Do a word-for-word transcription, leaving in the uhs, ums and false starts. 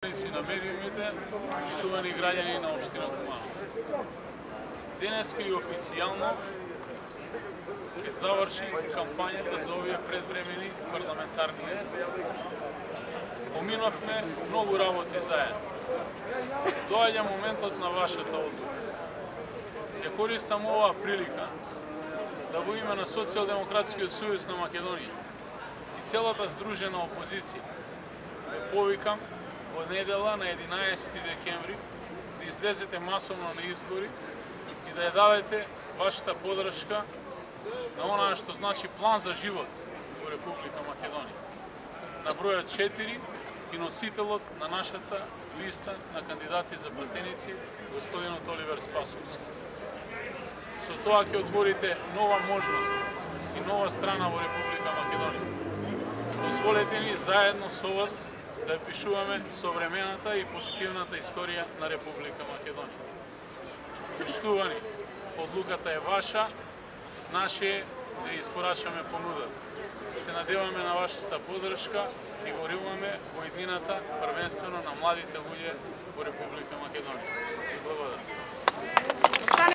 На медиумите, штувани граѓани на општина Куманово. Денеска и официјално ќе заврши кампањата за овие предвремени парламентарни избори. Поминавме многу работи заедно. Доаѓа моментот на вашата одлука. Ја користам оваа прилика да во име на Социјалдемократскиот сојуз на Македонија и целата здружена опозиција ве повикам во недела на единаесети декември да излезете масовно на избори и да ја дадете вашата подршка на онаа што значи план за живот во Република Македонија. На бројот четири и носителот на нашата листа на кандидати за пратеници, господинот Оливер Спасовски. Со тоа ќе отворите нова можност и нова страна во Република Македонија. Дозволете ни заедно со вас да пишуваме современата и позитивната историја на Република Македонија. Поштувани, одлуката е ваша, наше е да испорачаме понуда. Се надеваме на вашата подршка и веруваме во едината, првенствено на младите луѓе во Република Македонија. Благодарам.